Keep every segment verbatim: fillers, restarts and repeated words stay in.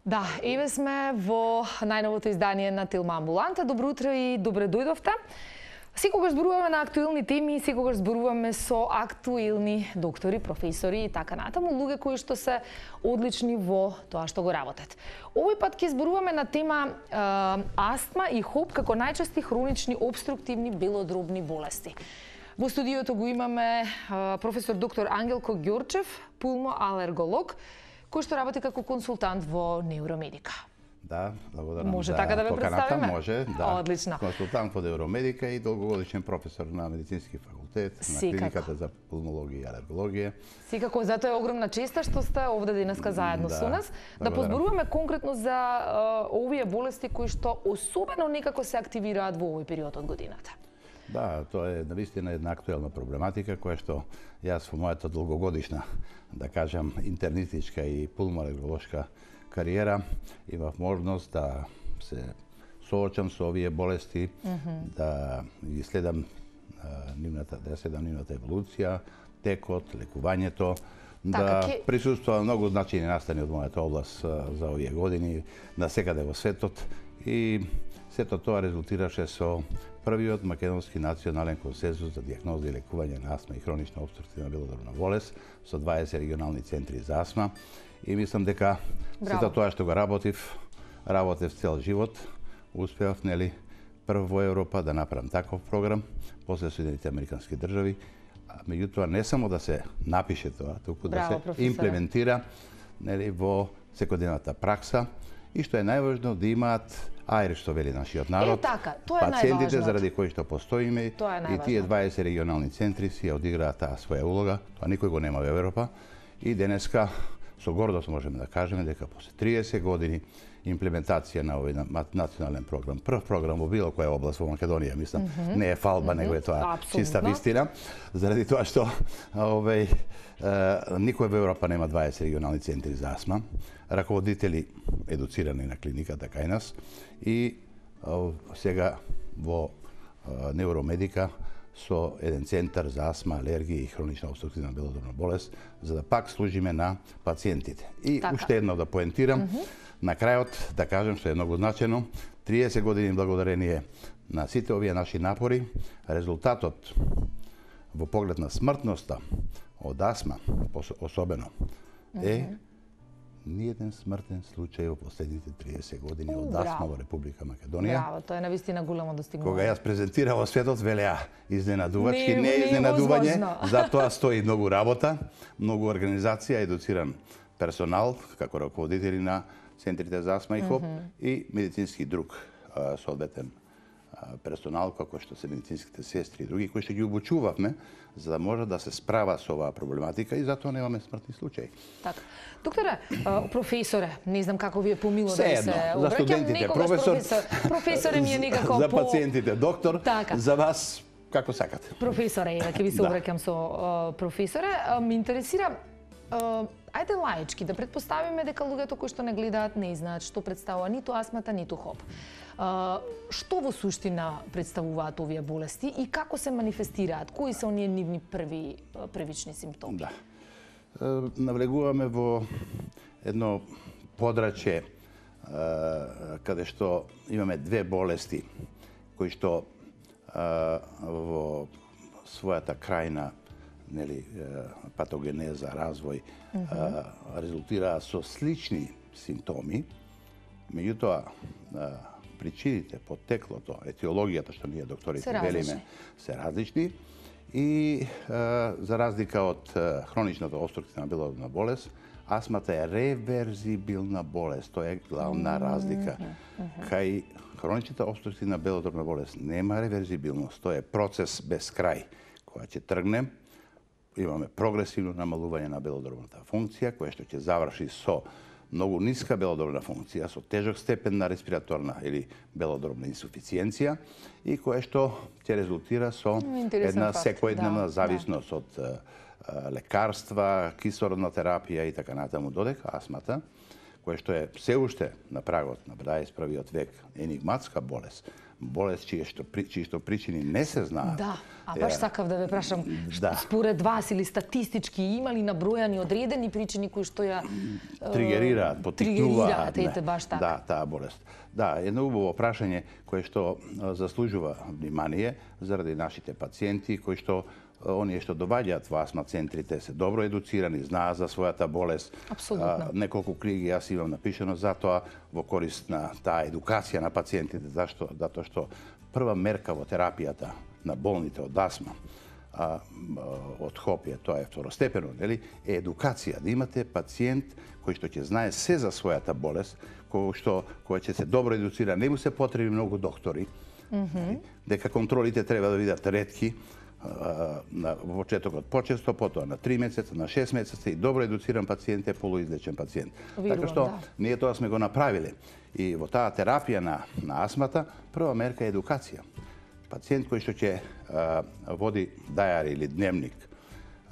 Да, еве сме во најновото издание на Тилма Амбуланта. Добро утро и добре дојдовте. Секогаш зборуваме на актуелни теми, секогаш зборуваме со актуелни доктори, професори и така натаму, луѓе кои што се одлични во тоа што го работат. Овој пат ќе зборуваме на тема е, астма и хоп како најчести хронични обструктивни белодробни болести. Во студиото го имаме е, професор доктор Ангелко Ѓорчев, пулмоалерголог, кој што работи како консултант во Невромедика. Да, благодарам. Може за така да ве поканата, представиме? Може, да. Одлично. Консултант во Невромедика и долгогодишен професор на медицински факултет, на клиниката за пулмологија и алергологија. Секако, затоа е огромна честа што сте овде денеска заедно да, со нас. Да позборуваме конкретно за uh, овие болести кои што особено некако се активираат во овој период од годината. Да, тоа е навистина една актуелна проблематика која што јас во мојата долгогодишна, да кажам, интернистичка и пулмоалерголошка кариера имав можност да се соочам со овие болести, mm -hmm. да ги следам нивната, да следам нивната еволуција, текот, лекувањето, така, да ке... присуствувам многу значајни настани од мојата област за овие години, насекаде во светот и сето тоа резултираше со првиот македонски национален консензус за дијагноза и лекување на астма и хронична обструктивна белодробна болест со дваесет регионални центри за астма. И мислам дека сето тоа што го работив, работев цел живот, успеав, нели, прв во Европа да направам таков програм, после Соединетите Американски држави, а меѓутоа не само да се напише тоа, туку да се професора. Имплементира, нели, во секојдневната пракса и што е најважно да имаат аер, што вели нашиот народ, е, така, тоа е пациентите заради кои што постоиме е и тие дваесет регионални центри си ја одиграат таа своја улога, тоа никој го нема во Европа и денеска со гордост можеме да кажеме дека после триесет години имплементација на овој национален програм, прв програм во било која област во Македонија, мислам, mm -hmm. не е фалба, mm -hmm. него е тоа Абсолютно. Чиста вистина, заради тоа што овој никој во Европа нема дваесет регионални центри за астма, раководители едуцирани на клиниката кај нас и сега во Невромедика со еден центар за астма, алергија и хронична обструктивна белодробна болест, за да пак служиме на пациентите. И така. Уште едно да поентирам, mm -hmm. на крајот да кажем што е многу значено, триесет години благодарение на сите овие наши напори, резултатот во поглед на смртноста од астма, особено, е mm -hmm. ниеден смртен случај во последните триесет години од астма во Република Македонија. Браво, тоа е навистина големо достигнување. Кога јас презентирав во светот, велеа изненадувачки, не, не е изненадување, затоа стои многу работа, многу организација, едуциран персонал, како раководители на центрите за астма и хоп, mm -hmm. и медицински друг соодветен персонал, како што се медицинските сестри и други, кои што ги обучувавме, за да може да се справа со оваа проблематика и затоа немаме смртни случаи. Така. Докторе, професоре, не знам како ви е помило да се обраќам. За студентите професор, професор, професоре ми е некако за по... пациентите доктор, така. За вас како сакате. Професоре, еве ќе ви се обраќам со uh, професоре. Uh, ме интересира Uh, ајде лаички да претпоставиме дека луѓето кои што не гледаат не знаат што представува ниту астмата, ниту хоп. Uh, што во суштина представуваат овие болести и како се манифестираат? Кои се оние нивни први првични симптоми? Да. Uh, навлегуваме во едно подрачје uh, каде што имаме две болести кои што uh, во својата крајна, нели, патогенеза, развој, mm -hmm. резултира со слични симптоми, меѓутоа причините, поттеклото, етиологијата што ние докторите велиме, се различни и за разлика од хроничната обструктивна белодробна болест, астмата е реверзибилна болест, тоа е главна mm -hmm. разлика. Mm -hmm. Кај хроничната обструктивна белодробна болест нема реверзибилност, тоа е процес без крај, која ќе тргне. Имаме прогресивно намалување на белодробната функција, која што ќе заврши со многу ниска белодробна функција, со тежок степен на респираторна или белодробна инсуфициенција и кое што ќе резултира со една секојдневна да, зависност да. од лекарства, кислородна терапија и така натаму, додека астмата, кое што е се уште на прагот на дваесет и првиот век енигматска болест, болест чие што, чии што причини не се знаат. Да, а баш сакав да ве прашам, да. според вас или статистички има ли набројани одредени причини кои што ја тригерираат, поттикнуваат ете баш така. Да, таа болест. Да, едно убаво прашање кое што заслужува внимание заради нашите пациенти кои што оние што доаѓаат во астма центрите се добро едуцирани, знаат за својата болест. Апсолутно. Неколку книги јас имам напишано за тоа во корист на таа едукација на пациентите. Зашто? Затоа што прва мерка во терапијата на болните од астма, а, од хопија, тоа е второстепено, нели, е едукација. Да имате пациент кој што ќе знае се за својата болест, кој што кој ќе се добро едуцира, не му се потреби многу доктори, mm -hmm. дека контролите треба да бидат ретки, на почетокот почесто, потоа на три месеца, на шест месеца и добро едуциран пациент е полуизлечен пациент. Вирувам, така што да. ние тоа сме го направиле. И во таа терапија на, на астмата, прва мерка е едукација. Пациент кој што ќе води дајари или дневник,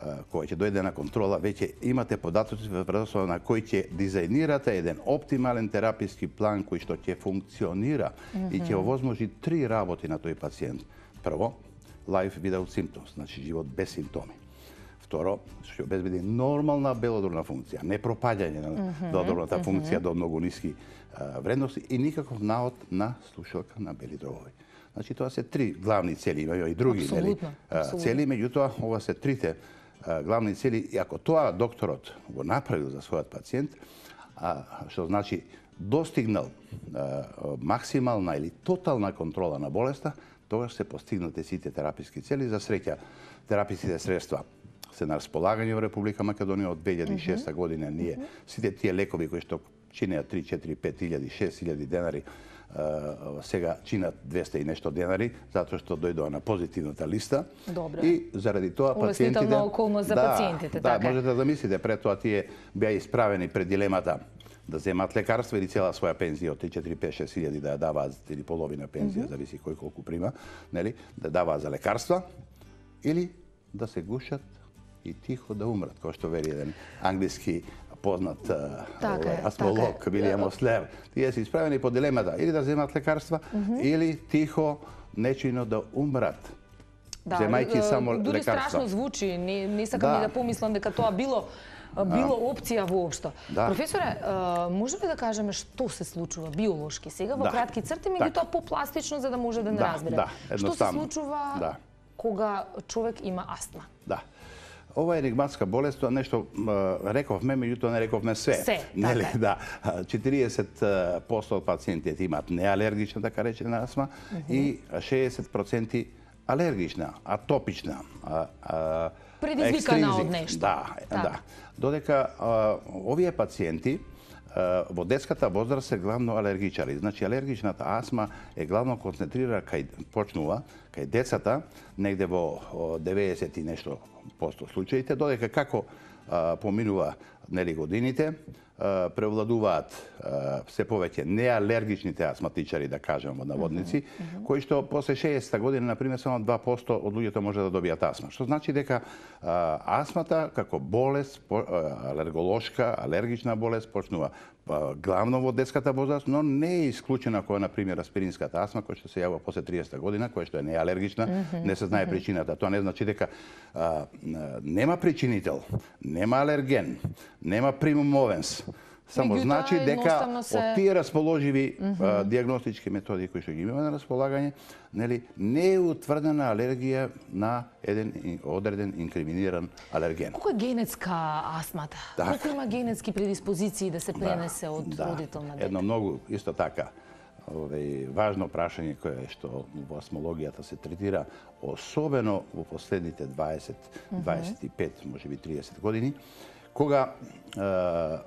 а, кој ќе дојде на контрола, веќе имате податоци врз на кој ќе дизајнирате еден оптимален тераписки план кој што ќе функционира mm -hmm. и ќе овозможи три работи на тој пациент. Прво, life without symptoms, значи живот без симптоми. Второ, што ќе обезбеди нормална белодробна функција, не пропаѓање на mm -hmm, белодробната mm -hmm. функција до многу ниски а, вредности и никаков наод на слушалка на бели дробови. Значи тоа се три главни цели, има и други нели, цели, меѓутоа ова се трите а, главни цели и ако тоа докторот го направил за својот пациент, а, што значи достигнал а, максимална или тотална контрола на болеста, тогаш се постигнате сите тераписки цели. За среќа, тераписките средства се на располагање во Република Македонија од две илјади и шеста година. Ние сите тие лекови кои што чинеа три, четири, пет илјади, шест илјади денари, сега чинат двесте и нешто денари, затоа што дојдоа на позитивната листа. Добре. И заради тоа пациентите... Улеснителна околност за да, пациентите, да, така. можете да мислите, пред тоа тие беа исправени пред дилемата да земат лекарства или цела своја пензија од три, четири, пет, шест илјади да ја даваат, или половина пензија, mm -hmm. зависи кој колку прима, нели, да даваат за лекарства, или да се гушат и тихо да умрат, кој што вели еден англиски познат така е, астмолог, така Вилијам Ослер. Тие се исправени по дилемата, или да земат лекарства, mm -hmm. или тихо, нечујно да умрат. Да, земајќи само дури лекарства. страшно звучи, не, не сакам да. ни да помислам дека тоа било било опција воопшто. Да. Професоре, може ли да кажеме што се случува биолошки сега во да. кратки црти, меѓутоа попластично за да може да не да, разбере. Да, што се случува да. кога човек има астма? Да. Ова е енигматска болест, тоа нешто рековме, меѓутоа не рековме све. Се, нели, така. Да. четириесет проценти од пациентите имаат неалергична, така речена астма, mm -hmm. и шеесет проценти алергична, атопична, а, а, предизвикана од нешто. Да, так. да. Додека а, овие пациенти а, во детската возраст се главно алергичари. Значи алергичната астма е главно концентрира кај почнува кај децата негде во деветдесет и нешто посто случаите, додека како а, поминува нели годините, превладуваат се повеќе неалергичните астматичари, да кажем во наводници, mm -hmm. кои што после шеесета година, например, само два проценти од луѓето може да добијат астма. Што значи дека а, астмата како болест, по, а, алерголошка, алергична болест, почнува а, главно во детската возраст, но не е исклучена која, например, аспиринската астма, која што се јавува после триесета година, која што е неалергична, mm -hmm. не се знае причината. Тоа не значи дека а, нема причинител, нема алерген, нема примум мовенс. Само значи дека се... од тие расположиви mm -hmm. а, диагностички методи кои што ги имаме на располагање, нели, не е утврдена алергија на еден одреден инкриминиран алерген. Колку е генетска астмата? Так. Колку има генетски предиспозиции да се пренесе да, од да. родител на дете? Едно многу исто така овој важно прашање кое што во астмологијата се третира, особено во последните дваесет, дваесет и пет, можеби триесет години, кога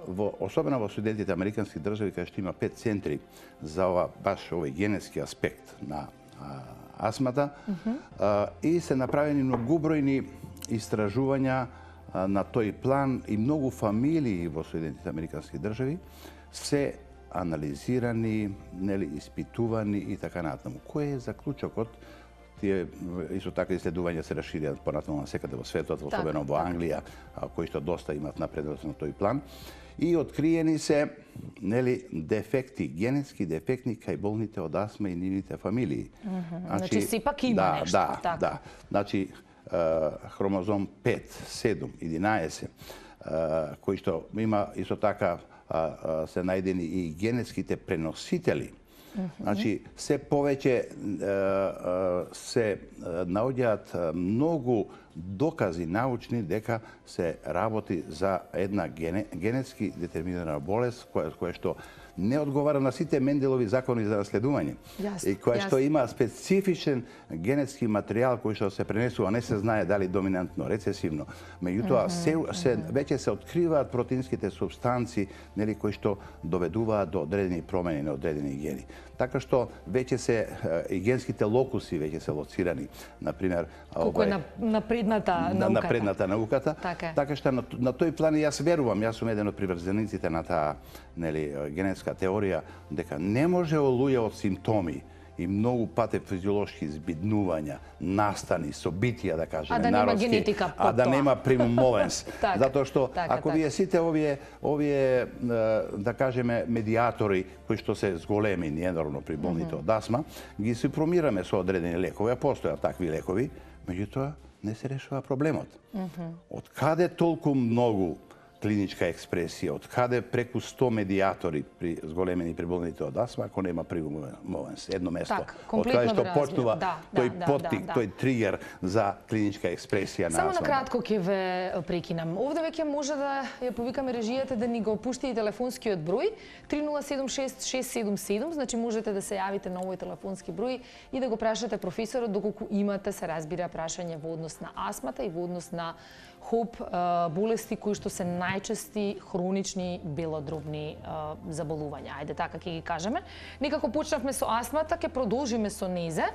во, особено во Соединетите американски држави, каде што има пет центри за ова баш овој генетски аспект на а, астмата, mm -hmm. а, и се направени многубројни истражувања а, на тој план и многу фамилии во Соединетите американски држави се анализирани, нели, испитувани и така натаму. Кој е заклучокот? Тие исто така исследувања се расширија понатаму на секаде во светот, особено во Англија, кои што доста имат напредок на тој план. И откриени се, нели, дефекти, генетски дефектни кај болните од астма и нивните фамилии. Значи, сепак има да, нешто. Да, така. да. Значи, хромозом пет, седум, единаесет, кои што има исто така се најдени и генетските преносители. Значи, се повеќе се наоѓаат многу докази научни дека се работи за една генетски детерминирана болест која, која што не одговара на сите Менделови закони за наследување. Јас, и која јас. што има специфичен генетски материјал кој што се пренесува, не се знае дали доминантно, рецесивно. Меѓутоа, се, се, веќе се откриваат протеинските субстанци, нели, кои што доведуваат до одредени промени на одредени гени. Така што веќе се и генските локуси веќе се лоцирани, например, колку е на, напредната на науката. напредната науката. Така, така што на, на тој план јас верувам, јас сум еден од приврзениците на таа, нели, генетска теорија, дека не може олуја од симптоми и многу пати физиолошки збиднувања, настани, собитија, да кажеме, а да нема народски, генетика под а да тоа. нема примум мовенс. така, Затоа што така, ако така. вие сите овие, овие, да кажеме, медиатори кои што се зголемени енормно при болните од астма, ги супромираме со одредени лекови, а постојат такви лекови, меѓутоа не се решава проблемот. Од каде толку многу клиничка експресија, од каде преку сто медиатори при зголемени при болните од астма, ако нема примумовенс, едно место. Так, од каде што веројатно. почнува Да, тој да, да, поттик, да, да. тој тригер за клиничка експресија на Само астма. на кратко ќе ве прекинам. Овде веќе може да ја повикаме режијата да ни го пушти и телефонскиот број три нула седум шест шест седум седум, значи можете да се јавите на овој телефонски број и да го прашате професорот доколку имате, се разбира, прашање во однос на астмата и во однос на хоп болести кои што се најчести хронични белодробни заболувања. Ајде така ќе ги кажеме. Некако почнавме со астмата, ќе продолжиме со незе.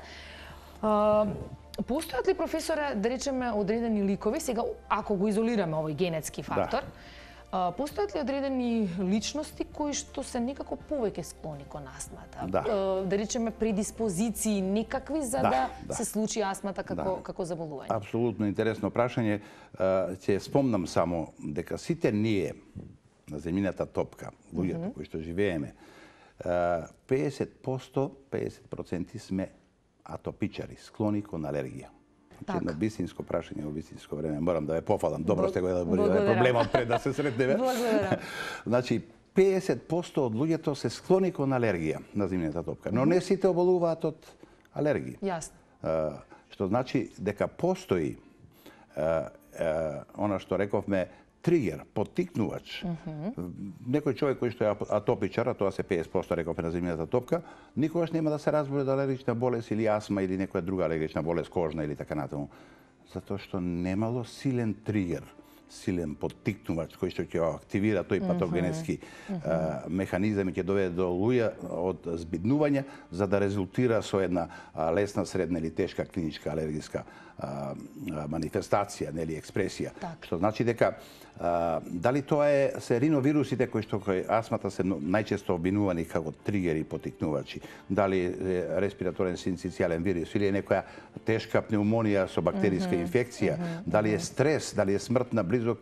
Постојат ли, професоре, да речеме, одредени ликови, сега ако го изолираме овој генетски фактор, да. Постојат ли одредени личности кои што се некако повеќе склони кон астмата? Да. Да речеме предиспозиции некакви за да, Да, да. се случи астмата како, Да. како заболување? Апсолутно интересно прашање. Ќе спомнам само дека сите ние на земјината топка, луѓето mm -hmm. кои што живееме, педесет проценти, педесет проценти сме атопичари, склони кон алергија. Так. Едно бистинско прашање во бистинско време. Морам да ве пофалам. Добро сте го елаборирале Благодарам. проблемот пред да се сретнеме. Благодарам. Значи, педесет проценти од луѓето се склони кон алергија на земјината топка, но не сите оболуваат од алергија. Јасно. Што значи дека постои она што рековме тригер, поттикнувач. Mm -hmm. Некој човек кој што е атопичар, а тоа се педесет проценти рековме на земјината топка, никогаш нема да се разболи од алергична болест или астма или некоја друга алергична болест, кожна или така натаму. Затоа што немало силен тригер, силен поттикнувач кој што ќе активира тој патогенетски mm -hmm. а, механизам и ќе доведе до луѓе од збиднување за да резултира со една а, лесна, средна или тешка клиничка алергиска а, а, манифестација, нели експресија. Так. Што значи дека а, дали тоа е се риновирусите кои што кој астмата се најчесто обвинувани како тригери, поттикнувачи, дали е респираторен синцитијален вирус или е некоја тешка пнеумонија со бактериска mm -hmm. инфекција, mm -hmm. дали е стрес, дали е смрт на близок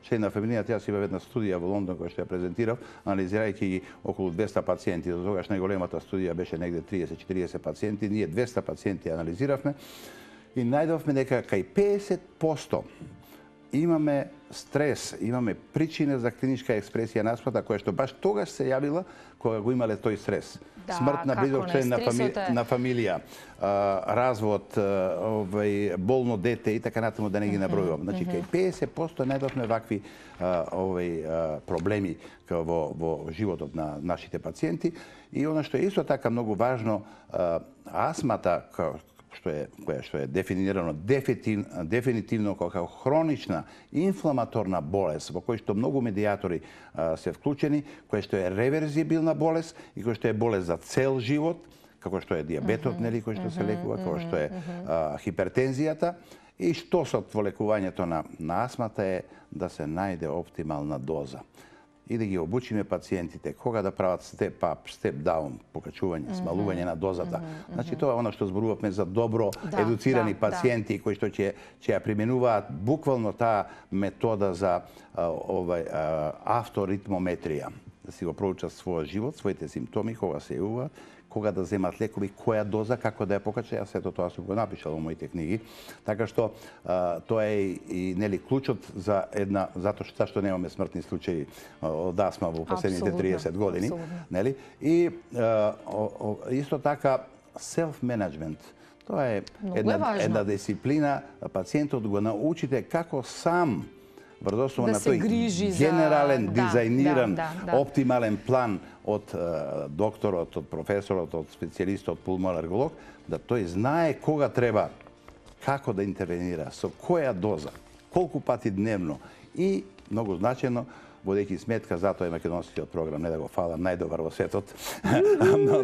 член на фамилијата. Јас имав една студија во Лондон која што ја презентирав, анализирајќи ги околу двесте пациенти. До тогаш најголемата студија беше негде триесет до четириесет пациенти, ние двесте пациенти анализиравме и најдовме дека кај педесет проценти имаме стрес, имаме причина за клиничка експресија на астмата која што баш тогаш се јавила кога го имале тој стрес. Да, смрт на близок член на, фами... е... на фамилија, а, развод, а, овај, болно дете и така натаму да не ги набројувам. Значи, кај педесет проценти најдовме вакви а, овај, а, проблеми во, во животот на нашите пациенти. И она што е исто така многу важно, а, астмата, што е која што е дефинирано дефинитивно, дефинитивно како хронична инфламаторна болест во кој што многу медиатори а, се вклучени, која што е реверзибилна болест и која што е болест за цел живот, како што е диабетот, нели, кој што се лекува, како што е а, хипертензијата. И што со во лекувањето на, на астмата е да се најде оптимална доза. и да ги обучиме пациентите кога да прават степ ап, степ даун, покачување, смалување на дозата. Значи тоа е она што зборувавме за добро Да, едуцирани да, пациенти кои што ќе ќе ја применуваат буквално таа метода за а, овај а, авторитмометрија, да си го проучат својот живот, своите симптоми кога се јавуваат, кога да земат лекови, која доза, како да ја покача. Јас сето тоа сум го напишал во моите книги. Така што а, тоа е и, и нели клучот за една, затоа што што немаме смртни случаи од астма во последните триесет години, абсолютно. нели? И а, о, о, исто така self-management. Тоа е Многу една, е важно. една дисциплина, пациентот го научите како сам врз основа Да на се тој грижи за- генерален, да, дизајниран, да, да, да. оптимален план од е, докторот, од професорот, од специјалистот, пулмоларголог, да тој знае кога треба, како да интервенира, со која доза, колку пати дневно и, многу значено, водејќи сметка, затоа е македонскиот програм, не да го фалам, најдобар во светот. Но- но-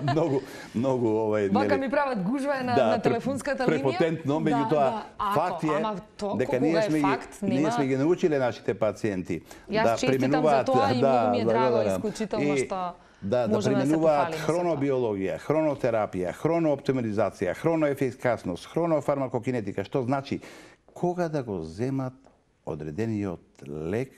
Многу, многу овај... Вака нели, ми прават гужва на, да, на телефонската линија. препотентно, Да, меѓутоа да. Ако, факт е ама то, дека кога ние е сме, факт, ги, ние нема... сме ги научиле нашите пациенти Јас да честитам применуваат за тоа и многу ми е драго, благодарам. исклучително И што да, да можеме да се применуваат похвалиме со тоа. хронобиологија, хронотерапија, хронооптимализација, хроноефикасност, хронофармакокинетика, што значи кога да го земат одредениот лек,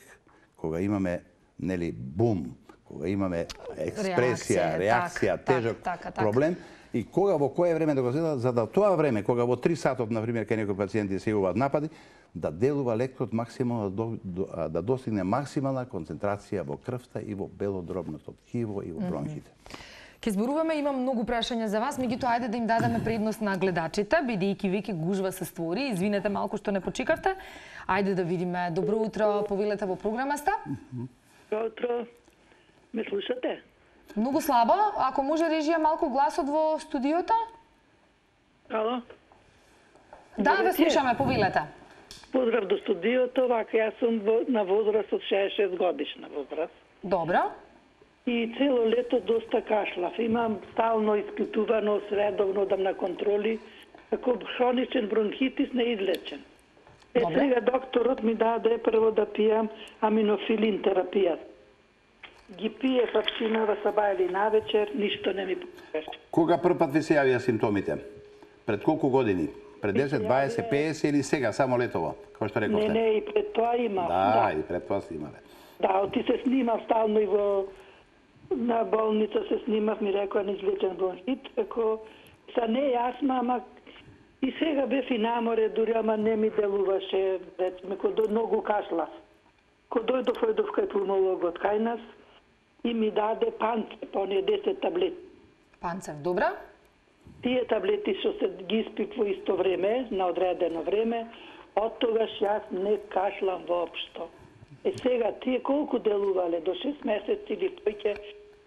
кога имаме нели бум, кога имаме експресија, Реакција, реакција, так, тежок так, така, така. проблем, и кога во кое време да го земат, за да тоа време, кога во три сатот, например, кај некои пациенти се јавуваат напади, да делува лекот максимално, да, до- да достигне максимална концентрација во крвта и во белодробното ткиво и во бронхите. Ке зборуваме, имам многу прашања за вас, меѓутоа ајде да им дадеме предност на гледачите, бидејќи веќе гужва се створи. Извинете малку што не почекавте. Ајде да видиме. Добро утро, повелете во програма сте. Добро утро. Ме слушате? Многу слабо, ако може режија малку гласот во студиото. Ало? Да, Добре, ве слушаме, повелете. Поздрав до студиото, вака јас сум во- на возраст од шеесет и шест годишна возраст. Добро. И цело лето доста кашлав. Имам стално испитувано, средовно дам на контроли, како хроничен бронхитис неизлечен. Е, Добре. сега докторот ми даде прво да пијам аминофилин терапија. Ги пие папчинава саба или навечер, ништо не ми помогаше. Кога прв пат ви се јавија симптомите? Пред колку години? Пред десет, дваесет, петдесет или сега, само летово, како што Не, рековте? не, и пред тоа имав. Да, и пред тоа сте имале. Да, оти се снимав стално и во на болница се снимав, ми рекоа неизлечен бронхит, како са не е астма, ама и сега бев и наморе, дури ама не ми делуваше, речеме, кој до многу кашлав. Кој дојдов, дојдов кај пулмологот кај нас и ми даде панцеп, оние десет таблети. Панцев, добро. Тие таблети што се ги испив во исто време, на одредено време, од тогаш јас не кашлам воопшто. Е сега, тие колку делувале, до шест месеци или тој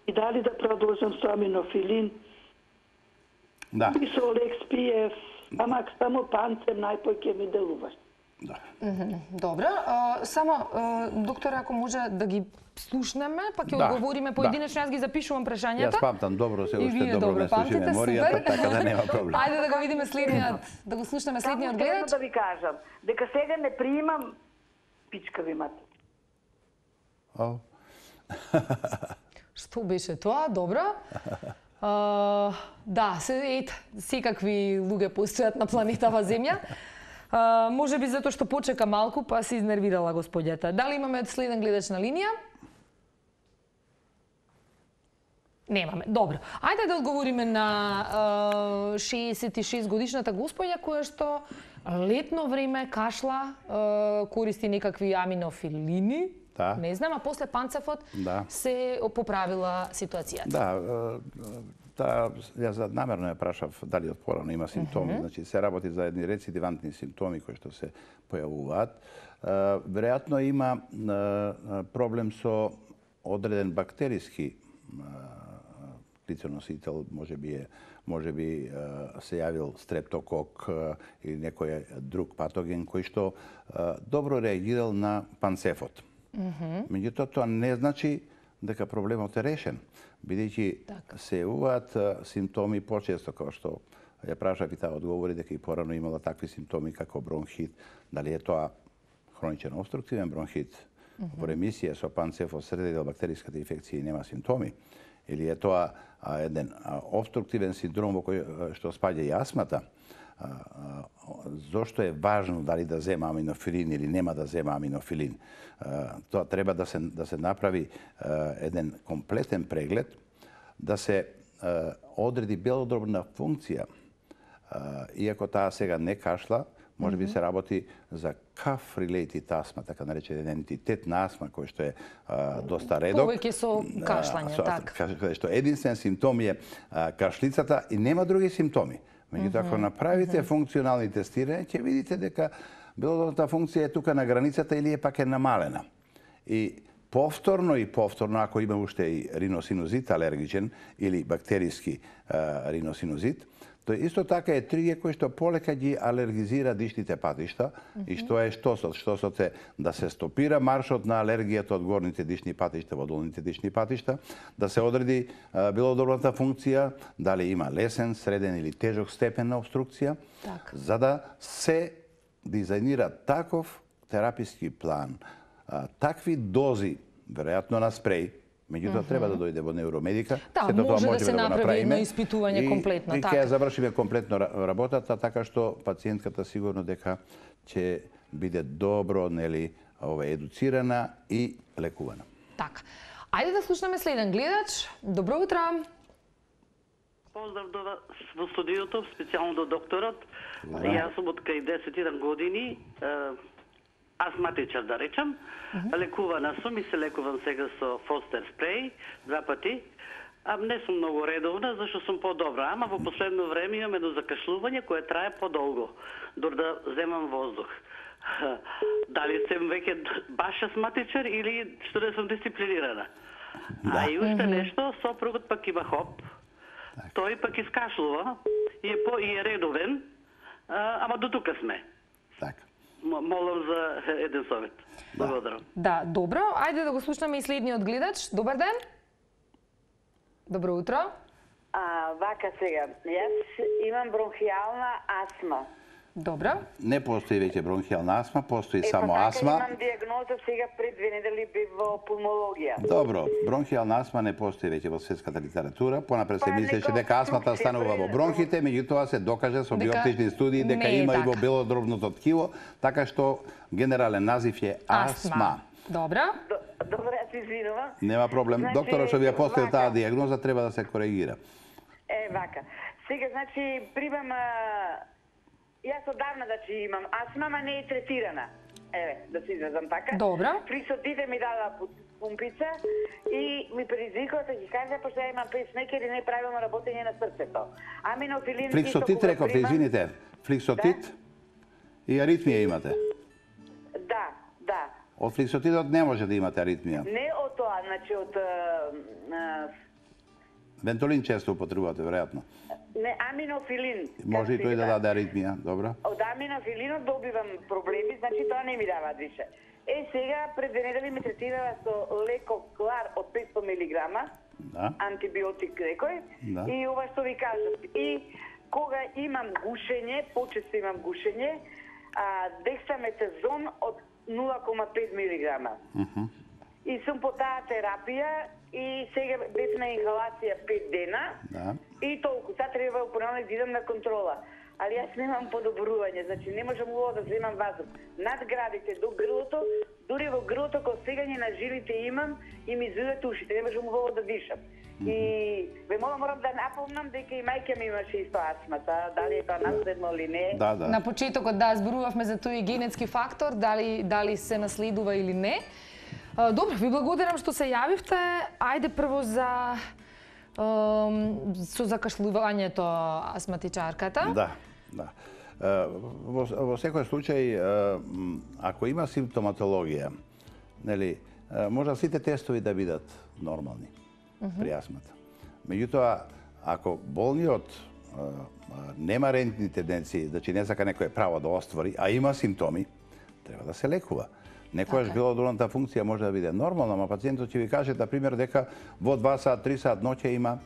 и дали да продолжам со аминофилин, Да, и со Лекспиев, ама само панцем најпој ќе ми делуваш. да. Добро. А, само, а, доктор, ако може да ги слушнеме, па ќе Да, одговориме да. поединечно, јас ги запишувам прашањата. Јас памтам добро, се И уште вие добро добро ме слуши памтите, меморијата, супер. така да нема проблем. Ајде да го видиме следниот, да го слушнеме следниот Само гледач. едно да ви кажам, дека сега не приимам пичкави мати. О, Што беше тоа? Добро. А, да, се, ет, секакви луѓе постојат на планетава Земја. А, може би затоа што почека малку, па се изнервирала господјата. Дали имаме следен гледач на линија? Немаме. Добро. Ајде да одговориме на а, шеесет и шест годишната господја која што летно време кашла, а, користи некакви аминофилини. Да. Не знам, а после панцефот Да. се поправила ситуацијата. Да, е, та, јас намерно ја прашав дали од порано има симптоми, значи се работи за едни рецидивантни симптоми кои што се појавуваат. Е, Веројатно има е, проблем со одреден бактериски лиценосител, може би е може би се јавил стрептокок или некој друг патоген кој што добро реагирал на панцефот. Меѓутоа, тоа не значи дека проблемот е решен, бидејќи Така. се јавуваат симптоми почесто, како што ја прашав и таа одговори дека и порано имала такви симптоми како бронхит, дали е тоа хроничен обструктивен бронхит во ремисија со панцефосредел бактериската инфекција и нема симптоми, или е тоа а, еден а, обструктивен синдром во кој што спаѓа и астмата, а, а, зошто е важно дали да зема аминофилин или нема да зема аминофилин. А, тоа треба да се да се направи а, еден комплетен преглед, да се а, одреди белодробна функција. А, иако таа сега не кашла, може би се работи за cough-related астма, така наречен ентитет на астма, кој што е а, доста редок. Повеќе со кашлање, така. Каде што единствен симптом е а, кашлицата и нема други симптоми. Меѓутоа, ако направите функционални тестирања, ќе видите дека белодробната функција е тука на границата или е пак е намалена. И повторно и повторно, ако има уште и риносинузит алергичен или бактериски а, риносинузит, тој исто така е триге кој што полека ги алергизира дишните патишта. Mm-hmm. И што е штосот? Штосот е да се стопира маршот на алергијата од горните дишни патишта во долните дишни патишта, да се одреди а, белодробната функција, дали има лесен, среден или тежок степен на обструкција, так. За да се дизајнира таков тераписки план, а, такви дози, веројатно на спреј, меѓутоа mm-hmm. треба да дојде во невромедика. Да, сето може тоа да се да направи едно испитување и, комплетно. И така. ќе завршиме комплетно работата, така што пациентката сигурно дека ќе биде добро, нели, ова едуцирана и лекувана. Така. Ајде да слушнеме следен гледач. Добро утро. Поздрав до во студиото, специјално до докторот. Да. Јас сум од кај десет еден години, астматичар, да речам. Uh-huh. Лекувана сум и се лекувам сега со Фостер спреј, два пати. А не сум многу редовна, зашто сум по-добра. Ама во последно време имам едно закашлување кое трае подолго, дор да земам воздух. Дали сум веќе баш астматичар или што не сум дисциплинирана? Да. А и уште uh-huh. нешто, сопругот пак има хоп. Так. Тој пак искашлува и е по и е редовен, а, ама до тука сме. Така. Молам за еден совет. Да. Благодарам. Да, добро. Ајде да го слушнеме и следниот гледач. Добар ден. Добро утро. А, вака сега, јас имам бронхијална астма. Добро. Не постои веќе бронхијална астма, постои е, само па, астма. Имам диагноза сега пред две недели би во пулмологија. Добро, бронхијална астма не постои веќе во светската литература. Понапред се Па, мислеше дека астмата станува во бронхите, меѓутоа се докаже со дека биоптични студии дека има така. и во белодробното ткиво, така што генерален назив е астма. астма. Добро. Добро, се извинувам. Нема проблем. Значи, Докторот што ви ја поставил вака. таа диагноза треба да се коригира. Е, вака. Сега, значи, примам... Јас одавна, значи, имам астма, ама не е третирана. Еве, да се изразам така. Добро. Фликсотите ми дала пумпица и ми предизвикува да ги кажа, пошто ја имам пейсмекер и неправилно работење на срцето. Аминофилин... Фликсотит рековте, извините. Фликсотит да? И аритмија имате. Да, да. Од фликсотидот не може да имате аритмија. Не од тоа, значи од... А, Вентолин често употребувате, веројатно. Не, аминофилин. Може и тој да даде аритмија, добро. Од аминофилинот добивам проблеми, значи тоа не ми даваат више. Е, сега пред две недели ме третирала со лекоклар од петстотини милиграма, да. антибиотик некој, да. И ова што ви кажат. И кога имам гушење, почесто имам гушење, а, дексаметазон од нула кома пет милиграма. Uh-huh. И сум по таа терапија и сега бев на инхалација пет дена. Да. И толку, сега треба понатаму да идам на контрола. Али јас немам подобрување, значи не можам уво да земам вазух. Над градите до грлото, дури во грлото кога сегање на жилите имам и ми извиват ушите, не можам уво да дишам. Mm-hmm. И ве молам, морам да напомнам дека и мајка ми имаше исто астмата, дали е тоа наследно или не. Да, да. На почетокот да зборувавме за тој генетски фактор, дали дали се наследува или не. Добро, ви благодарам што се јавивте. Ајде прво за со закашлувањето астматичарката. Да, да. Во, во секој случај, ако има симптоматологија, нели, може сите тестови да бидат нормални uh-huh. при астмата. Меѓутоа, ако болниот нема рентни тенденции, значи не сака некој право да оствари, а има симптоми, треба да се лекува. Некојаш okay. белодробната функција може да биде нормална, но пациентот ќе ви каже, да пример, дека во два сат, три сат ноќе има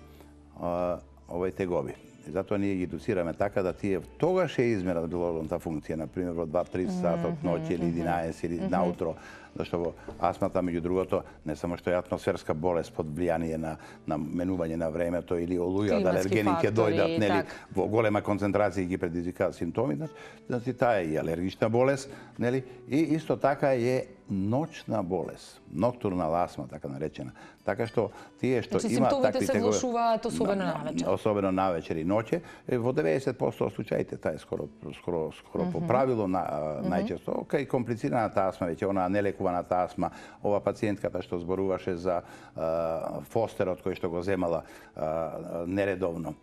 а, овој тегоби. И затоа ние ги едуцираме така да тие тогаш е измерат белодробната функција, на пример во два-три сат од ноќе или единаесет или наутро, зашто во астмата, меѓу другото, не само што е атмосферска болест под влијание на, на менување на времето или олуја, да алергени ќе дојдат, нели, во голема концентрација ги предизвикаат симптоми, значи таа е и алергична болест, нели, и исто така е ноќна болест, ноктурна астма, така наречена. Така што тие што значи, има симптомите такви се влошуваат особено на, навечер. Особено навечер и ноќе. Во деветдесет проценти од случаите, таа е скоро скоро скоро mm -hmm. по правило на, uh, mm -hmm. најчесто кај комплицираната астма, веќе она нелекуваната астма, ова пациентката што зборуваше за uh, фостерот кој што го земала uh, нередовно.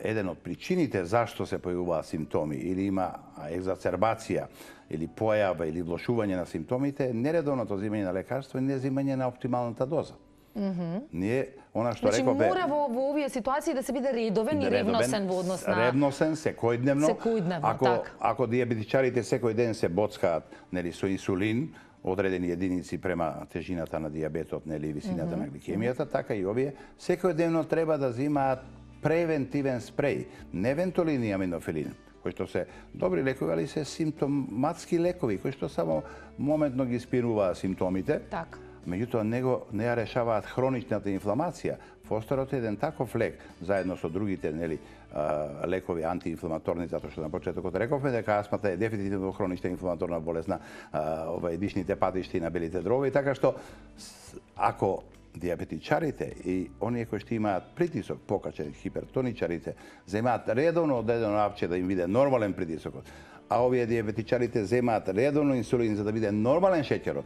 Еден од причините зашто се појавуваат симптоми или има екзацербација или појава или влошување на симптомите е нередовното земање на лекарство и не земање на оптималната доза. Mm -hmm. Ние, она што значи, рекове... мора во, во овие ситуации да се биде редовен и ревносен во однос на... Ревносен, секојдневно. Секојдневно, ако, така. Ако диабетичарите секој ден се боцкаат, нели, со инсулин, одредени единици према тежината на диабетот, нели, висината mm -hmm. на гликемијата, така и овие, секојдневно треба да земаат превентивен спреј, не вентолин и аминофилин, кои што се добри лекови, али се симптоматски лекови, кои што само моментно ги спируваат симптомите. Так. Меѓутоа, него не ја решаваат хроничната инфламација. Фостерот е еден таков лек, заедно со другите, нели, лекови антиинфламаторни, затоа што на почетокот рековме дека астмата е дефинитивно хронична инфламаторна болест на овај дишните патишти на белите дробови, така што ако диабетичарите и оние кои што имаат притисок покачен, хипертоничарите, земаат редовно одредено апче да им биде нормален притисокот, а овие диабетичарите земаат редовно инсулин за да биде нормален шеќерот,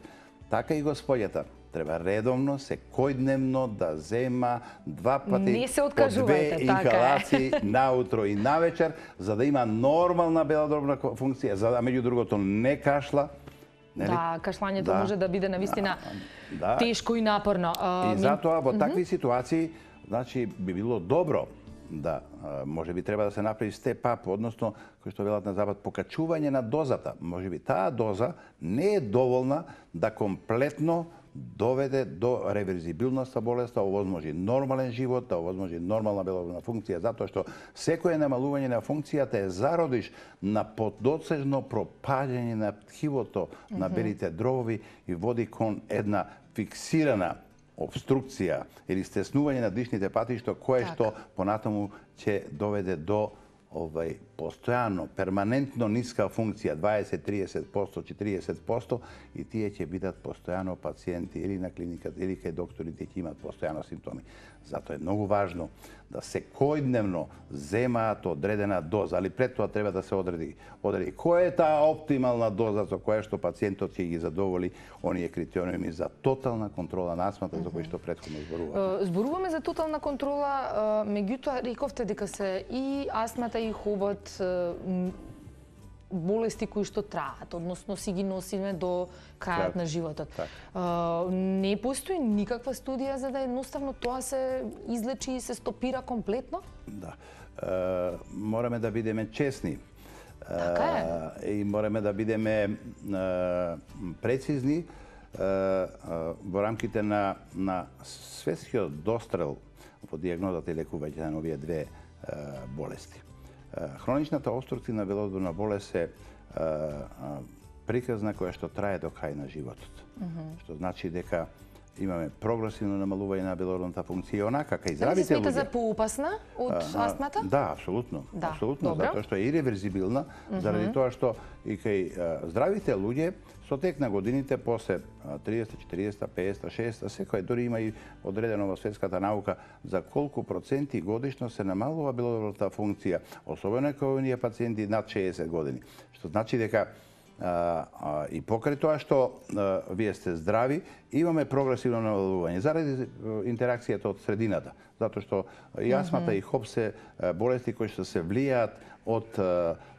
така и господјата треба редовно, секојдневно да зема два пати по две инхалации наутро и навечер, за да има нормална белодробна функција, за да меѓу другото не кашла. Нели? Да, кашлањето да. може да биде навистина да. тешко и напорно. И затоа во такви ситуации, значи би било добро да може би треба да се направи степ ап, односно кој што велат на запад покачување на дозата. Може би таа доза не е доволна да комплетно доведе до реверзибилност на болеста, овозможи нормален живот, да овозможи нормална белодробна функција, затоа што секое намалување на функцијата е зародиш на подоцежно пропаѓање на тхивото на белите дробови и води кон една фиксирана обструкција или стеснување на дишните патишта, кое так. што понатаму ќе доведе до овај постојано, перманентно ниска функција, дваесет, триесет проценти, четириесет проценти, и тие ќе бидат постојано пациенти или на клиниката, или кај докторите ќе имат постојано симптоми. Затоа е многу важно да секојдневно земаат одредена доза, али пред тоа треба да се одреди, одреди која е таа оптимална доза со која што пациентот ќе ги задоволи оние критериуми за тотална контрола на астмата, за кои што претходно зборуваме. Зборуваме за тотална контрола, меѓутоа рековте дека се и астмата и хобот болести кои што траат, односно си ги носиме до крајот на животот. Так. Не постои никаква студија за да едноставно тоа се излечи и се стопира комплетно? Да. Е, мораме да бидеме честни. Така е. И мораме да бидеме е, прецизни е, во рамките на, на светскиот дострел во дијагнозата и лекување на овие две е, болести. Хроничната обструктивна белодробна болест е приказна која што трае до крај на животот. Mm -hmm. Што значи дека имаме прогресивно намалување на белодробната функција, онака кај здравите луѓе. Дали се смета за поопасна од астмата? Да, апсолутно. Да, апсолутно, добро. Затоа што е иреверзибилна, mm -hmm. заради тоа што и кај здравите луѓе со тек на годините, после триесет, четириесет, пеесет, шеесет, секој дори има и одредено во светската наука за колку проценти годишно се намалува белодробната функција, особено кај оние пациенти над шеесет години. Што значи дека а, а, и покрај тоа што а, вие сте здрави, имаме прогресивно намалување заради интеракцијата од средината, затоа што и астмата mm -hmm. и хоп се болести кои што се влијаат од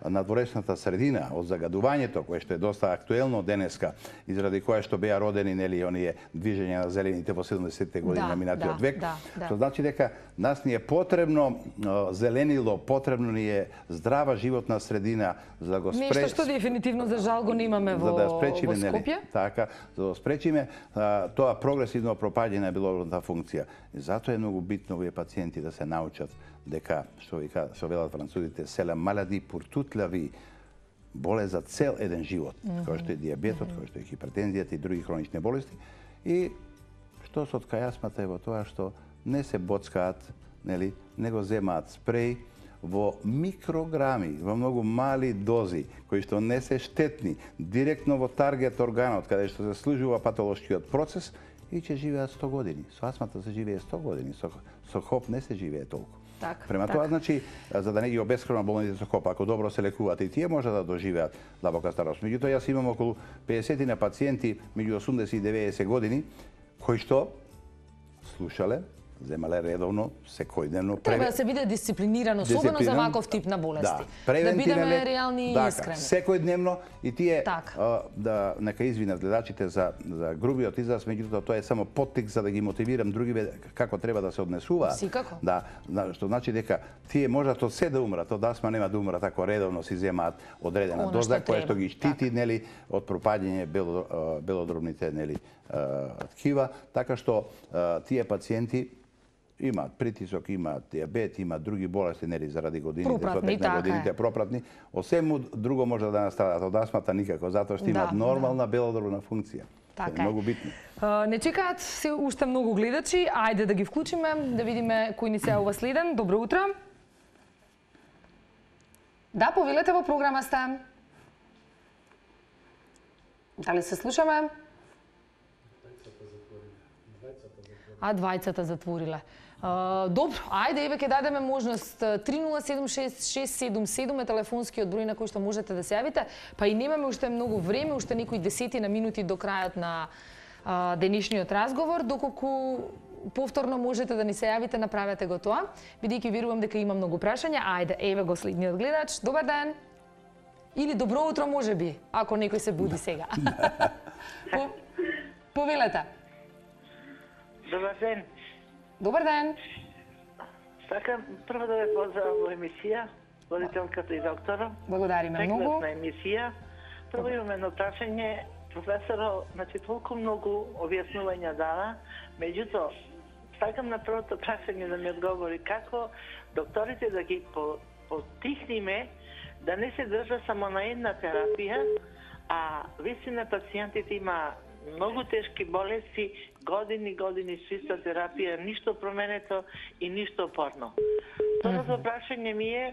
надворешната средина, од загадувањето, кое што е доста актуелно денеска, и заради кое што беа родени, нели, оние движења на зелените во седумдесетте години на минатиот да, век. Да, да. Што значи дека нас ни е потребно зеленило, потребно ни е здрава животна средина за да го спре... Нешто што дефинитивно за жал го немаме во, за да спречиме, во Скопје. Нели, така, за да спречиме а, тоа прогресивно пропаѓање на белодробната функција. И затоа е многу битно овие пациенти да се научат дека, што вика, што велат французите, се ла малади pour toute la vie. болест за цел еден живот, кој што е дијабетот, кој што е хипертензијата и други хронични болести. И што се од кајасмата е во тоа што не се боцкаат, нели, него земаат спреј во микрограми, во многу мали дози, кои што не се штетни, директно во таргет органот, каде што се служува патолошкиот процес, и ќе живеат сто години. Со астмата се живее сто години, со, со хоп не се живее толку. Так, Према так. тоа, значи, за да не ги обесхрана болните со хоп, ако добро се лекуваат и тие може да доживеат длабока старост. Меѓутоа, јас имам околу педесет на пациенти меѓу осумдесет и деветдесет години, кои што слушале, земале редовно, секојдневно. Треба да се биде дисциплинирано, особено за ваков тип на болести. Да, да бидеме реални и искрени. Секојдневно и тие Так. а, да нека извинат гледачите за за грубиот израз, меѓутоа тоа е само поттик за да ги мотивирам другиве како треба да се однесуваат. Секако. Да, што значи дека тие можат од се да умрат, од астма нема да умрат ако редовно си земаат одредена Она доза што која што треба. ги штити, Так. нели, од пропаѓање бело, а, белодробните, нели, а, ткива, така што а, тие пациенти имаат притисок, имаат диабет, имаат други болести, нели, заради годините, Пропратни, со тек на така годините е. пропратни. Осему друго може да настрадат од астмата никако, затоа што имаат Да, нормална белодробна функција. Така Тоа е многу битно. А, Не чекаат се уште многу гледачи, ајде да ги вклучиме, да видиме кој ни се јавува следен. Добро утро. Да, повелете, во програма сте. Дали се слушаме? А, двајцата затвориле. Uh, добро, ајде, еве ќе дадеме можност. три нула седум шест шест седум седум е телефонскиот број на кој што можете да се јавите, па и немаме уште многу време, уште некои десетина минути до крајот на uh, денешниот разговор, доколку повторно можете да ни се јавите, направете го тоа, бидејќи верувам дека има многу прашања. Ајде, еве го следниот гледач. Добар ден. Или добро утро можеби, ако некој се буди сега. По, повелете. Добар ден. Добар ден. Сакам прво да ве поздравам во емисија, водителката и докторот. Благодариме многу. Прекрасна емисија. Прво имам едно прашање. Професорот, значи, толку многу објаснувања дава, меѓутоа, сакам на првото прашање да ми одговори како докторите да ги потихниме да не се држа само на една терапија, а вистина пациентите има многу тешки болести, години, години со иста терапија, ништо променето и ништо порно. Второто прашање ми е,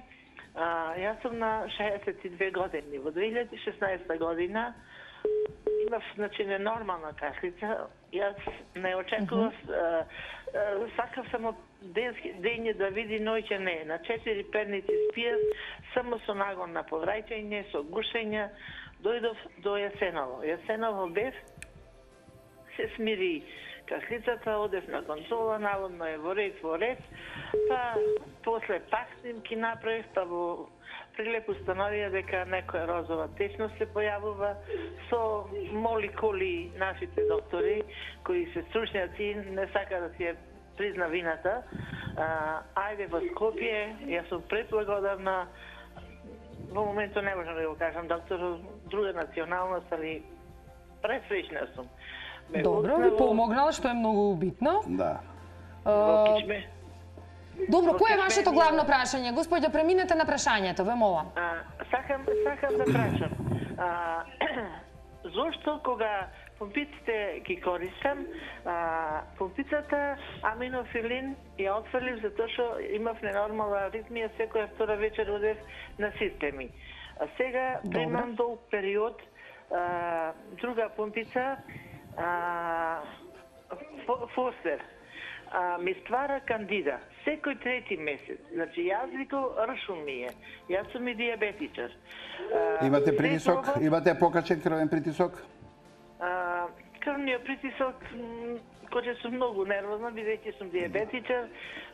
а, јас сум на шеесет и две години. Во две илјади и шеснаесета година имав, значи, ненормална кашлица. Јас не очекував, mm -hmm. сакав само денски, дење да види, ноќе не. На четири перници спијав, само со нагон на повраќање, со гушење, дојдов до Јасеново. Јасеново бев, се смири кашлицата, одев на контрола, наводно е во ред, во ред, па после пак снимки направив, па во прилеп установија дека некоја розова течност се појавува со молекули нашите доктори, кои се стручњаци, не сака да си ја призна вината. А, ајде во Скопје, јас сум преблагодарна, во моментот не можам да го кажам доктор, друга националност, али пресреќна сум. Ме Добро, ви помогнал, што е многу битно. Да. Во Кичме. Добро, Во кој е Кичме вашето ми- главно прашање? Господје, преминете на прашањето, ве молам. А, сакам, сакам да прашам. А, зошто кога помпиците ги користам, а, помпицата аминофилин ја отфрлив затоа што имав ненормална аритмија, секоја втора вечер одев на системи. А сега примам долг период, а, друга помпица, а, фо- Фостер, а, ми ствара кандида секој трети месец. Значи јас викам ршум ми е. Јас сум и дијабетичар. А, Имате се притисок? пробав, Имате покачен крвен притисок? а, крвниот притисок, м, кога сум многу нервозна, бидејќи сум дијабетичар,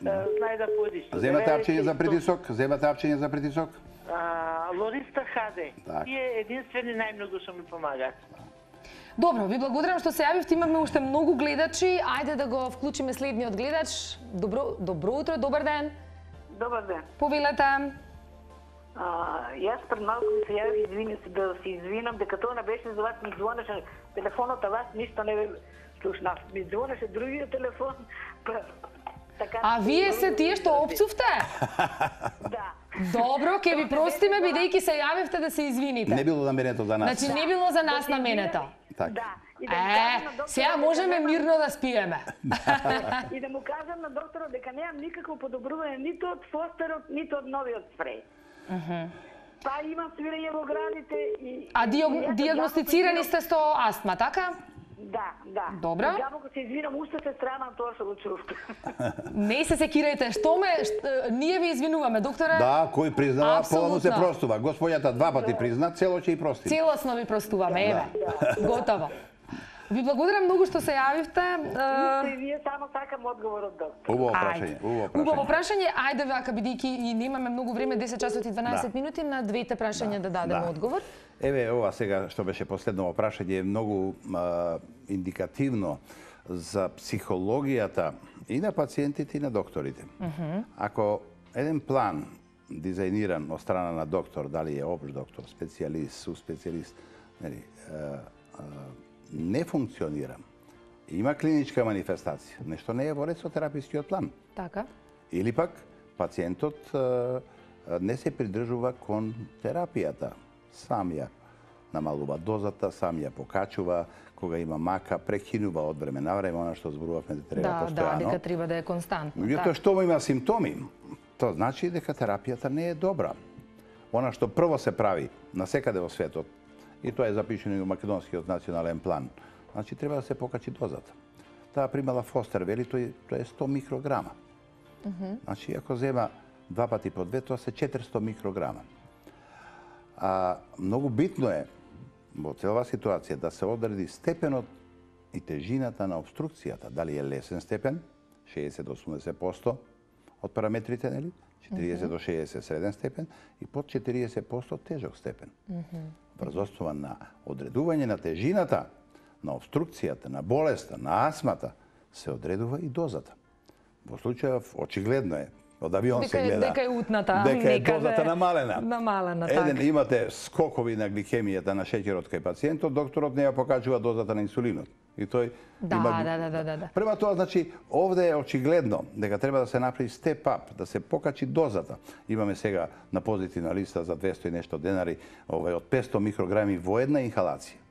а, знае да поди што. Земате апчење за притисок? Земате апчење за притисок? А, Лориста Хаде. Так. Тие единствени најмногу што ми помагаат. Добро, ви благодарам што се јавивте, имаме уште многу гледачи. Ајде да го вклучиме следниот гледач. Добро, добро утро, добар ден. Добар ден. Повелете. А, јас пред малку ми се јавих, извини се да се извинам, дека тоа не беше за вас, ми звонеше телефонот, а вас ништо не ве слушнав. Ми звонеше другиот телефон, па А вие се тие што опцувте? Да. Добро, ќе ви простиме бидејќи се јавивте да се извините. Не било наменето за нас. Значи не било за нас наменето. Така. Да. Е, сега можеме мирно да спиеме. И да му кажам на докторот дека немам никакво подобрување ниту од фостерот, ниту од новиот спреј. Па имам свирење во граните и... А диагностицирани сте со астма, така? Да, да. Добро. Јабоко се извинам, уште се срамам тоа што го чув. Не се секирајте, што ме, ние ви извинуваме, докторе. Да, кој признава, полно се простува. Господјата два пати призна, цело ќе и прости. Целосно ви простуваме, еве. Готово. Ви благодарам многу што се јавивте. И вие само сакам одговор од доктор. Убаво прашање, убаво прашање. Убаво прашање, ајде вака бидејќи и немаме многу време, десет часот и дванаесет минути, на двете прашања да дадеме одговор. Еве, ова сега што беше последно прашање е многу а, индикативно за психологијата и на пациентите и на докторите. Uh -huh. Ако еден план дизајниран од страна на доктор, дали е опш доктор, специјалист, суспецијалист, нели, а, а, не функционира, има клиничка манифестација, нешто не е во ред со терапискиот план. Така. Или пак пациентот а, не се придржува кон терапијата. Сам ја намалува дозата, сам ја покачува, кога има мака, прекинува од време на време, она што зборувавме да треба да, постојано. Да, дека треба да е константно. Меѓутоа, што му има симптоми, тоа значи дека терапијата не е добра. Она што прво се прави насекаде во светот, и тоа е запишено и во Македонскиот национален план, значи треба да се покачи дозата. Таа примала Фостер, вели, тој, тоа е сто микрограма. Uh -huh. Значи, ако зема два пати по две, тоа се четиристо микрограма. А многу битно е во целава ситуација да се одреди степенот и тежината на обструкцијата, дали е лесен степен, шеесет до осумдесет проценти од параметрите, нели? четириесет до шеесет среден степен и под четириесет проценти тежок степен. Uh -huh. Врз основа на одредување на тежината, на обструкцијата, на болеста, на астмата, се одредува и дозата. Во случајов очигледно е, од авион дека, се гледа, дека е утната, дека е некаде, дозата намалена. Намалена, Еден така. имате скокови на гликемијата на шеќерот кај пациентот, докторот не ја покачува дозата на инсулинот. И тој да, има... да, да, да, да. Према тоа, значи, овде е очигледно дека треба да се направи степ ап, да се покачи дозата. Имаме сега на позитивна листа за двесто и нешто денари, овај од петсто микрограми во една инхалација.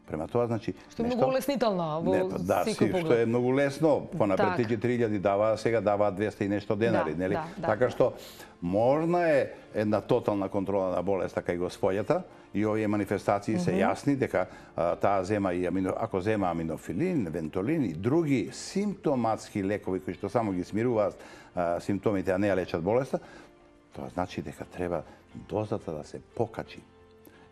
Према тоа, значи... Што е многу улеснително во не, да, секој си, поглед. што е многу лесно, понапред Так. четири илјади даваа, сега даваат двесте и нешто денари, Да, нели? да, да. Така што можна е една тотална контрола на болеста кај господјата и овие манифестации се јасни дека а, таа зема и амино, ако зема аминофилин, вентолин и други симптоматски лекови кои што само ги смируваат а, симптомите, а не ја лечат болеста, тоа значи дека треба дозата да се покачи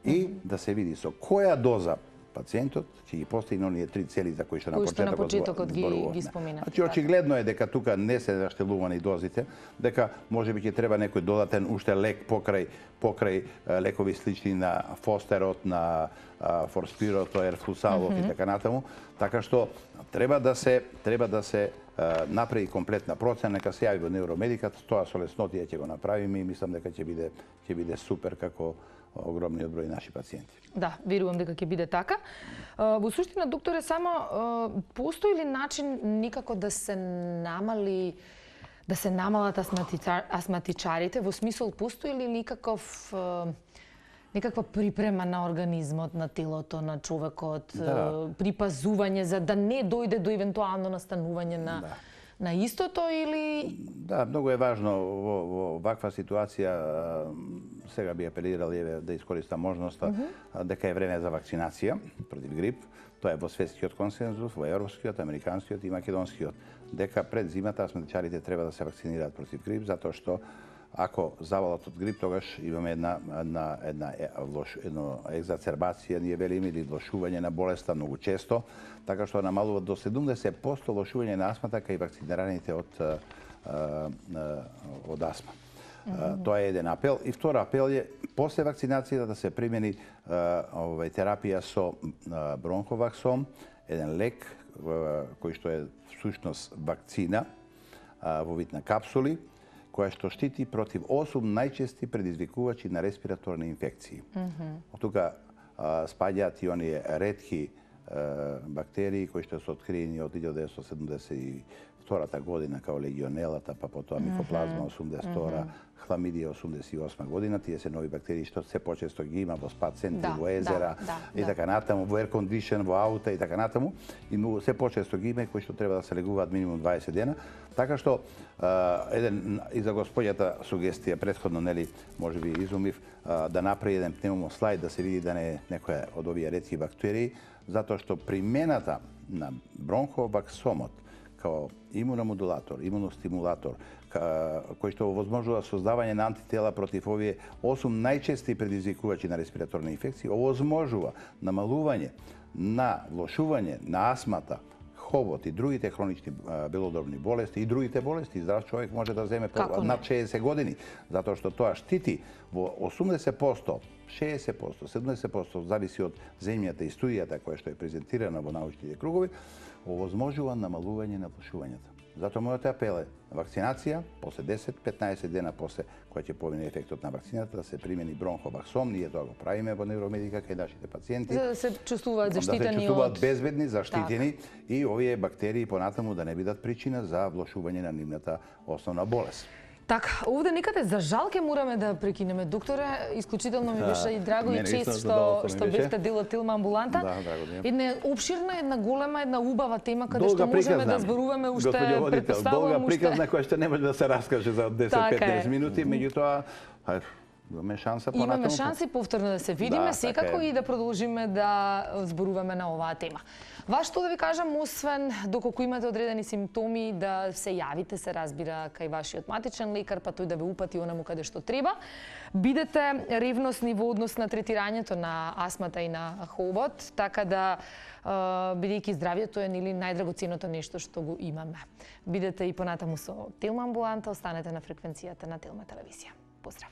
и да се види со која доза пациентот ќе ги постигне оние три цели за кои што на Кои што на почетокот почетокот ги, зборувавме. ги спомина. Значи очигледно е дека тука не се заштелувани дозите, дека можеби ќе треба некој додатен уште лек покрај покрај е, лекови слични на Фостерот, на а, Форспирот, Ерфлусалов mm -hmm. и така натаму, така што треба да се треба да се а, направи комплетна процена, нека се јави во Невромедикат, тоа со леснотија ќе го направиме и мислам дека ќе биде ќе биде супер како огромниот број наши пациенти. Да, верувам дека ќе биде така. Во суштина, докторе, само постои ли начин никако да се намали да се намалат астматичар, астматичарите, во смисол постои ли никаков некаква припрема на организмот, на телото, на човекот, да. припазување за да не дојде до евентуално настанување на да. на истото или... Да, многу е важно во, во ваква ситуација, сега би апелирал еве да искористам можноста, uh -huh. дека е време за вакцинација против грип. Тоа е во светскиот консензус, во европскиот, американскиот и македонскиот, дека пред зимата астматичарите треба да се вакцинираат против грип, затоа што ако завалат од грип, тогаш имаме една, една, една, лош, едно екзацербација, ние велиме, или влошување на болеста многу често, така што намалува до седумдесет проценти лошување на астмата кај вакцинираните од, од астма. Mm -hmm. Тоа е еден апел. И втор апел е, после вакцинацијата да се примени овај терапија со бронховаксом, еден лек кој што е всушност вакцина во вид на капсули, која што штити против осум најчести предизвикувачи на респираторни инфекции. Mm -hmm. Од тука спаѓаат и оние ретки бактерии кои што се откриени од илјада деветстотини седумдесет и втората година као легионелата, па потоа микоплазма осумдесет и втора, хламидија осумдесет и осма година. Тие се нови бактерии што се почесто ги има во спа центри, Да, во езера да, да, и да. така натаму, во air condition, во аута и така натаму. И многу се почесто ги има и кои што треба да се легуваат минимум дваесет дена. Така што а, еден и за господјата сугестија претходно, нели, можеби изумив, а, да направи еден пневмослайд да се види да не е некоја од овие ретки бактерии, затоа што примената на бронхобаксомот као имуномодулатор, имуностимулатор, кој што овозможува создавање на антитела против овие осум најчести предизвикувачи на респираторни инфекции, овозможува намалување на влошување на асмата, хобот и другите хронични белодробни болести и другите болести. Здрав човек може да земе по, над шеесет години, затоа што тоа штити во осумдесет проценти, шеесет проценти, седумдесет проценти, зависи од земјата и студијата која што е презентирана во научните кругови, овозможува намалување на влошувањата. Затоа мојот апел е вакцинација, после десет до петнаесет дена после која ќе помине ефектот на вакцината, да се примени бронхобаксом, ние тоа го правиме во невромедика кај нашите пациенти. За да се чувствуваат заштитени од... Да се чувствуваат безбедни, заштитени и овие бактерии понатаму да не бидат причина за влошување на нивната основна болест. Така, овде некаде за жал ке мораме да прекинеме. Докторе, исклучително ми беше и драго и чест што што бевте дел од Тилма амбуланта. Да, драго ми е. Една обширна, една голема, една убава тема каде што можеме да зборуваме уште, Долга претпоставувам уште. приказна која што не може да се раскаже за десет до петнаесет минути, меѓутоа имаме шанса понатаму. Имаме шанси повторно да се видиме, Да, секако така е. и да продолжиме да зборуваме на оваа тема. Ваш што да ви кажам, освен доколку имате одредени симптоми, да се јавите, се разбира, кај вашиот матичен лекар, па тој да ве упати онаму каде што треба. Бидете ревносни во однос на третирањето на астмата и на хобот, така да бидејќи здравјето е нели најдрагоценното нешто што го имаме. Бидете и понатаму со Телма амбуланта, останете на фреквенцијата на Телма телевизија. Поздрав!